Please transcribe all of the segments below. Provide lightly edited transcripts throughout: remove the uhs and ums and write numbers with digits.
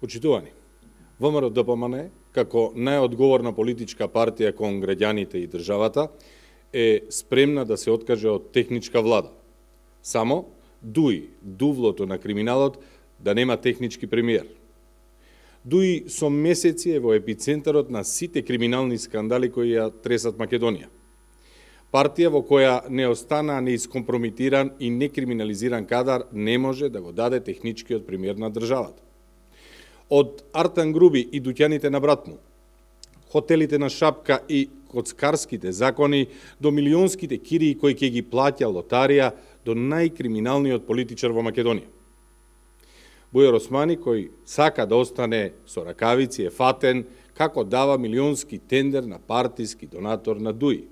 Почитувани, ВМРО-ДПМН, како најодговорна политичка партија кон граѓаните и државата, е спремна да се откаже од техничка влада. Само дуи дувлото на криминалот да нема технички премиер. Дуи со месеци е во епицентарот на сите криминални скандали кои ја тресат Македонија. Партија во која не остана неискомпромитиран и некриминализиран кадар не може да го даде техничкиот премиер на државата. Од Артан Груби и дуќаните на брат му, хотелите на Шапка и коцкарските закони, до милионските кирии кои ќе ги плаќа лотарија, до најкриминалниот политичар во Македонија. Бујар Османи, кој сака да остане со ракавици, е фатен како дава милионски тендер на партиски донатор на Дуи.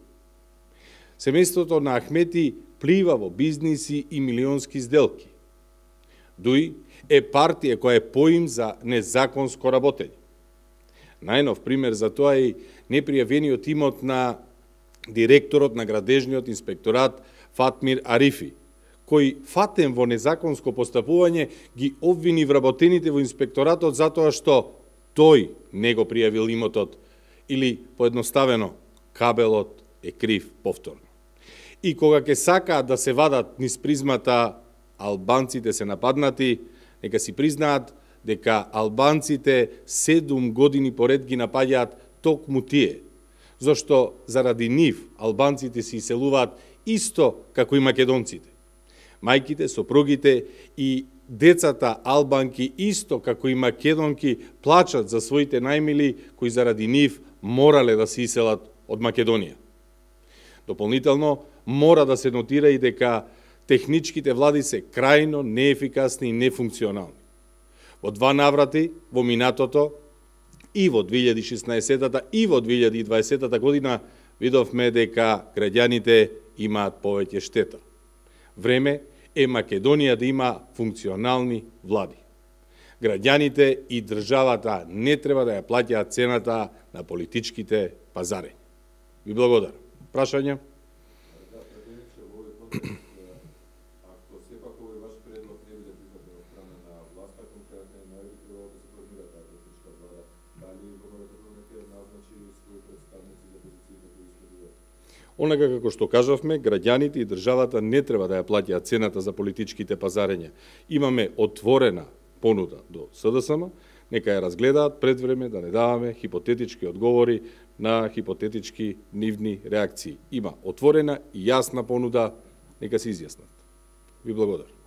Семејството на Ахмети плива во бизниси и милионски сделки. Дуи е партија која е поим за незаконско работење. Најнов пример за тоа е непријавениот имот на директорот на градежниот инспекторат Фатмир Арифи, кој фатен во незаконско постапување ги обвини вработените во инспекторатот затоа што тој не го пријавил имотот или, поедноставено, кабелот е крив повторно. И кога ќе сакаат да се вадат низ призмата албанците се нападнати, нека си признаат дека албанците 7 години поред ги напаѓаат токму тие, зашто заради нив албанците се иселуваат исто како и македонците. Мајките, сопругите и децата албанки исто како и македонки плачат за своите најмили кои заради нив морале да се иселат од Македонија. Дополнително, мора да се нотира и дека техничките влади се крајно неефикасни и нефункционални. Во два наврати, во минатото, и во 2016 и во 2020 година, видовме дека граѓаните имаат повеќе штета. Време е Македонија да има функционални влади. Граѓаните и државата не треба да ја плаќаат цената на политичките пазарења. Ви благодарам. Прашања? Ако сепак овој ваш предлог не биде прифатен од страна на власта, конкретно не би требало да се формира таа политичка влада, дали ВМРО-ДПМН ќе назначи своји представници за позициите кои следуваат? Онака како што кажавме, граѓаните и државата не треба да ја плаќаат цената за политичките пазарења. Имаме отворена понуда до СДСМ, нека ја разгледаат пред време да не даваме хипотетички одговори на хипотетички нивни реакции. Има отворена и јасна понуда, нека се изјаснат. Ви благодарам.